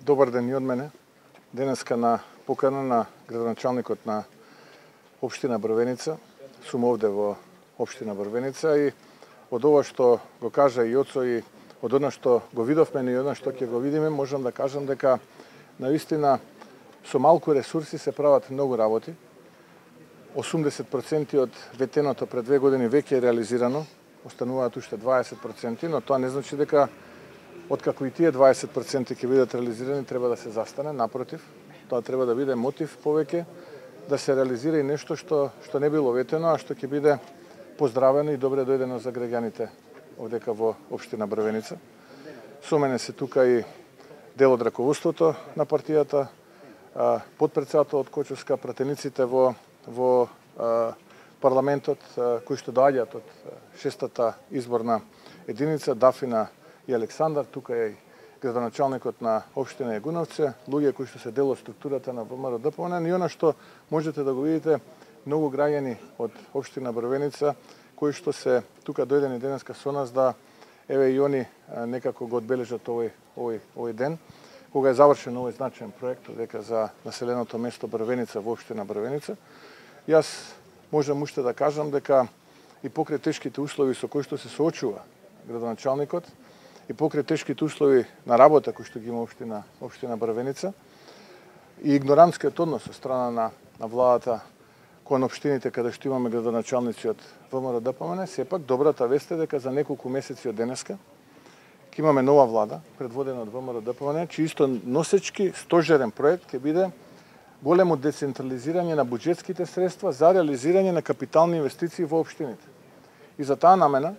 добар ден и од мене. Денеска на покана на градоначалникот на општина Брвеница. Сум овде во општина Брвеница и од ова што го кажа и Јоцо и од она што го видовме и од она што ќе го видиме, можам да кажам дека навистина со малку ресурси се прават многу работи. 80% од ветеното пред 2 години веќе е реализирано, остануваат уште 20%, но тоа не значи дека откако и тие 20% ќе бидат реализирани треба да се застане, напротив, тоа треба да биде мотив повеќе да се реализира и нешто што не било ветено, а што ќе биде поздравено и добре дојдено за граѓаните овдека во општина Брвеница. Со мене се тука и дел од раководството на партијата, потпредседател од Кочовска, пратениците во парламентот кои што доаѓаат од 6-та изборна единица, Дафина и Александар, тука е и градоначалникот на општина Јагуновци, луѓе кои што се дел од структурата на ВМРО-ДПМН и она што можете да го видите, многу граѓани од општина Брвеница кои што се тука дојдени денеска со нас да еве и они некако го одбележат овој ден, кога е завршен овој значаен проект дека за населеното место Брвеница во општина Брвеница. Јас можам уште да кажам дека и покрај тешките услови со кои што се соочува градоначалникот и покрај тешките услови на работа кои што ги има општина Брвеница и игнорантскиот однос од страна на владата кон општините каде што имаме градоначалници од ВМРО-ДПМН, сепак добрата вест е дека за неколку месеци од денеска ќе имаме нова влада предводена од ВМРО-ДПМН, чиsto носечки стожерен проект ќе биде големо децентрализирање на буџетските средства за реализирање на капитални инвестиции во општините. И за таа намена,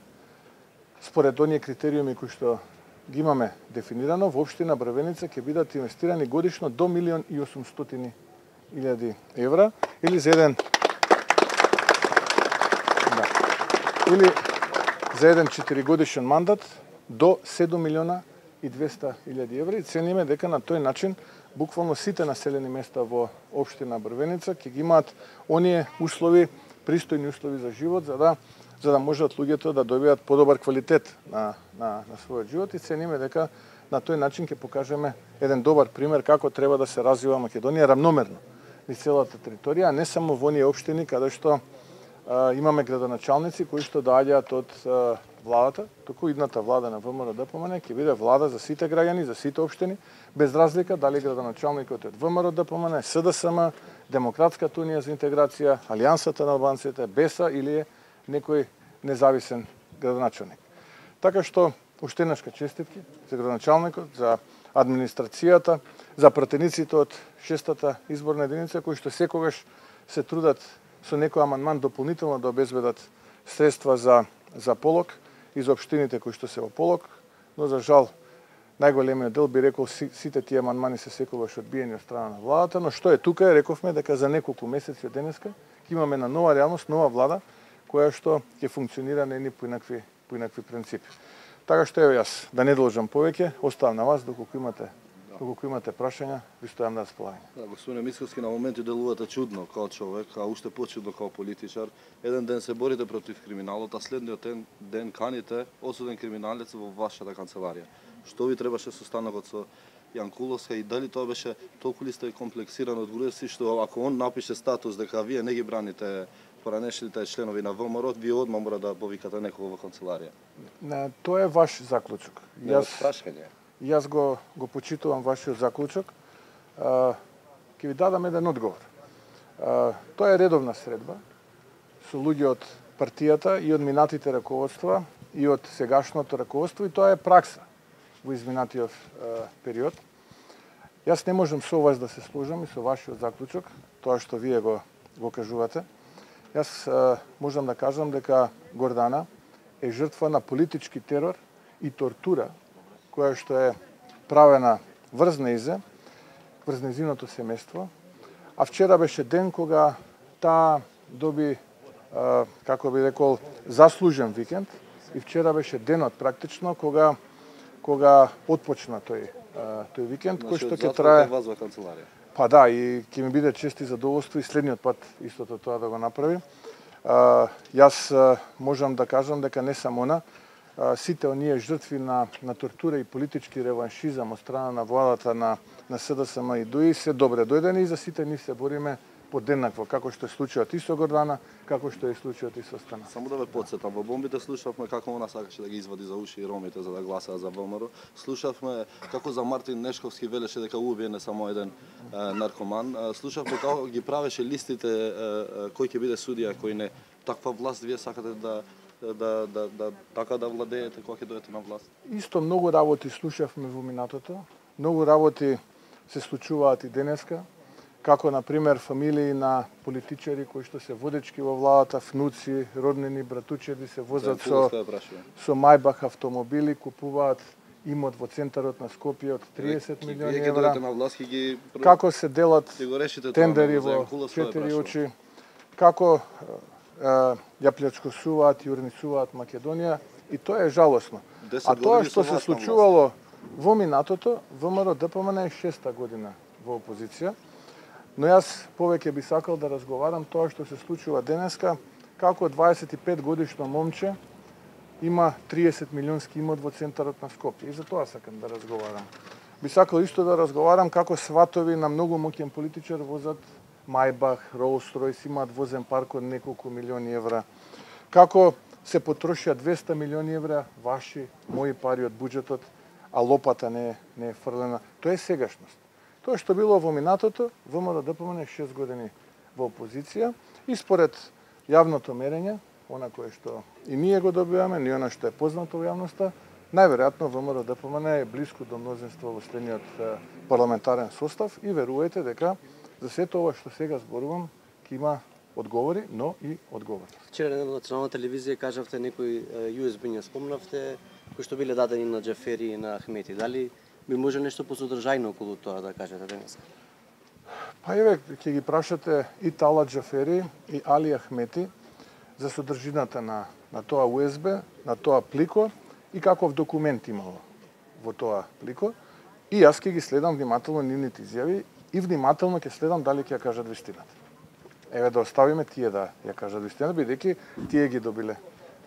според оние критериуми кои што ги имаме дефинирано, во општина Брвеница ќе бидат инвестирани годишно до 1.800.000 евра или за еден 4-годишен мандат до 7.200.000 евра и цениме дека на тој начин буквално сите населени места во општина Брвеница ќе ги имаат оние услови, пристојни услови за живот за да можат луѓето да добијат подобар квалитет на својот живот и цениме дека на тој начин ќе покажеме еден добар пример како треба да се развива Македонија рамномерно низ целата територија, а не само во оние општини каде што имаме градоначалници кои што доаѓаат од владата, туку идната влада на ВМРО-ДПМН ќе биде влада за сите граѓани, за сите општини, без разлика дали градоначалникот е од ВМРО-ДПМН, СДСМ, Демократската унија за интеграција, Алијансата на албанците, БЕСА или е некој независен градоначалник. Така што уште еднашка честитки за градоначалникот, за администрацијата, за пратениците од 6-та изборна единица кои што секогаш се трудат со некој амандман дополнително да обезбедат средства за полог и за општините кои што се во полог, но за жал најголемиот дел би рекол сите тие амандмани се секогаш одбиени од страна на владата, но што е тука, рековме дека за неколку месеци од денеска ќе имаме на нова реалност, нова влада која што ќе функционира на едни поинакви принципи. Така што еве јас да не должам повеќе, оставам на вас доколку имате прашања, ви стојам на располагање. Да, господине Мицковски, на моменти делувате чудно као човек, а уште почудно као политичар. Еден ден се борите против криминалот, а следниот ден каните осуден криминалец во вашата канцеларија. Што ви требаше состанокот со Јанкуловска и дали тоа беше толку ли сте комплексиран од Груевски што ако он напише статус дека вие не ги браните поранешните членови на ВМРО, вие одма мора да повикате некого во канцеларија? Не, тоа е ваш заклучок. Јас го почитувам вашиот заклучок. Ќе ви дадам еден одговор. Тоа е редовна средба со луѓе од партијата и од минатите раководства и од сегашното раководство и тоа е пракса во изминатиот период. Јас не можам со вас да се сложам и со вашиот заклучок, тоа што вие го кажувате. Јас можам да кажам дека Гордана е жртва на политички терор и тортура која што е правена врз незиното семејство, а вчера беше ден кога таа доби, како би рекол, заслужен викенд и вчера беше денот практично кога отпочна тој викенд, кој што ќе трае. Па да, и ќе ми биде чест и задоволство и следниот пат истото тоа да го направи. Јас можам да кажам дека не само она, сите оние жртви на тортура и политички реваншизам од страна на владата на СДСМ и ДУИ се добре дојдени и за сите ние се бориме подеднакво, како што е случајот и со Гордана, како што е случајот и со Стана. Само да ве потсетам, во бомбите слушавме како она сакаше да ги извади за уши и ромите за да гласаат за ВМРО. Слушавме како за Мартин Нешковски велеше дека убие не само еден наркоман. Слушавме како ги правеше листите кој ќе биде судија, кој не. Таква власт вие сакате така да владеете кога ќе дојдете на власт? Исто многу работи слушавме во минатото, многу работи се случуваат и денеска, како на пример фамилии на политичари кои што се водечки во владата, внуци, роднини, братучеди се возат со Мајбах автомобили, купуваат имот во центарот на Скопје од 30 милиони евра. Како се делат тендери во 4 очи, како ја плячкосуваат и урнисуваат Македонија, и тоа е жалосно. А тоа што се случувало во минатото, ВМРО-ДПМН е 6-та година во опозиција, но јас повеќе би сакал да разговарам тоа што се случува денеска, како 25 годишно момче има 30 милионски имот во центарот на Скопје. И за тоа сакам да разговарам. Би сакал исто да разговарам како сватови на многу моќен политичар возат Мајбах, Rolls-Royce, имаат возен парк од неколку милиони евра. Како се потрошија 200 милиони евра ваши, мои пари од буџетот, а лопата не е фрлена. Тоа е сегашност. Тоа што било во минатото, ВМРО-ДПМН е 6 години во опозиција и според јавното мерење, она кое што и ние го добиваме, не она што е познато во јавноста, најверојатно ВМРО-ДПМН е блиску до мнозинство во следниот парламентарен состав и верувајте дека за сето ова што сега зборувам ќе има одговори, но и одговори. Вчера на национална телевизија кажавте некои USB не спомнавте, кои што биле дадени на Џафери и на Ахмети. Дали би може нешто посодржајно околу тоа да кажете денес? Па еве, ќе ги прашате и Талат Џафери и Али Ахмети за содржината на тоа USB, на тоа плико и каков документ имало во тоа плико. И јас ќе ги следам внимателно нивните изјави и внимателно ќе следам дали ќе ја кажат вистината. Еве да оставиме тие да ја кажат вистината, бидејќи тие ги добиле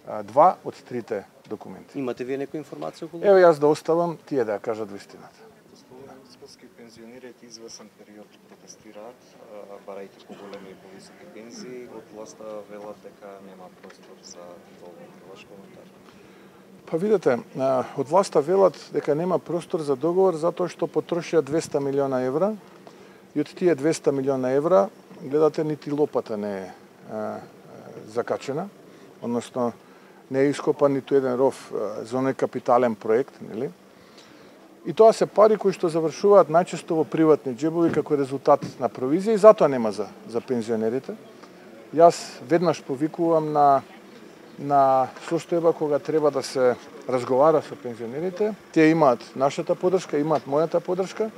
2 од 3 документи. Имате вие некоја информација околу? Еве јас да оставам тие да ја кажат вистината. Споски пензионерите извесен период протестираат, барајќи поголеми и повисоки пензии, од власта велат дека нема простор за договор. Ваш коментар? Па видете, од власта велат дека нема простор за договор затоа што потрошија 200 милиона евра и од тие 200 милиона евра, гледате, нити лопата не е закачена, односно не е ископан ниту еден ров за оној капитален проект, нели? И тоа се пари кои што завршуваат најчесто во приватни џебови како резултат на провизија и затоа нема за пензионерите. Јас веднаш повикувам на состојба кога треба да се разговара со пензионерите. Тие имаат нашата поддршка, имаат мојата поддршка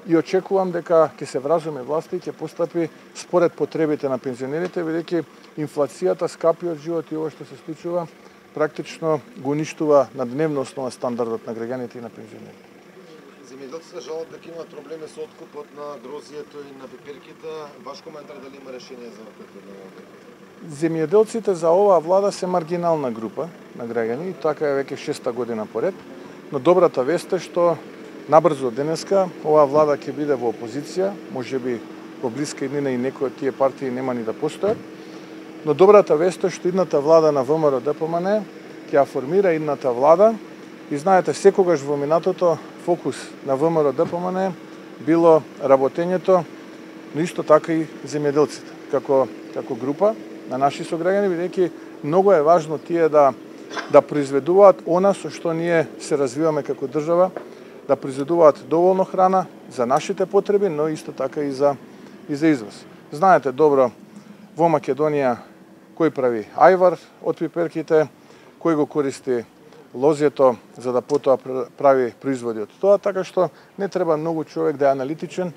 и очекувам дека ќе се вразуми власта и ќе постапи според потребите на пензионерите, бидејќи инфлацијата, скапиот живот и ова што се случува практично го уништува на дневна основа стандардот на граѓаните и на пензионерите. Земјоделците жалат дека имаат проблеми со откупот на грозието и на пиперките. Ваш коментар дали има решение за проблемот? Земјоделците за оваа влада се маргинална група на граѓани и така е веќе 6-та година поред. Но добрата вест е што набрзо денеска оваа влада ќе биде во опозиција, можеби во блиска иднина и некои од тие партии нема ни да постојат. Но добрата вест е што идната влада на ВМРО-ДПМН ќе ја формира идната влада и знаете секогаш во минатото фокус на ВМРО-ДПМН било работењето, но исто така и земјоделците како група на наши сограѓани, бидејќи многу е важно тие да произведуваат она со што ние се развиваме како држава, да произведуваат доволно храна за нашите потреби, но исто така и за извоз. Знаете добро во Македонија кој прави ајвар од пиперките, кој го користи лозјето за да потоа прави производи од тоа, така што не треба многу човек да е аналитичен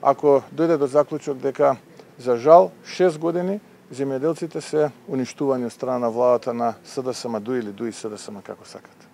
ако дојде до заклучок дека за жал 6 години земјоделците се уништувани од страна на владата на СДСМ ДУИ или ДУИ СДСМ како сакате.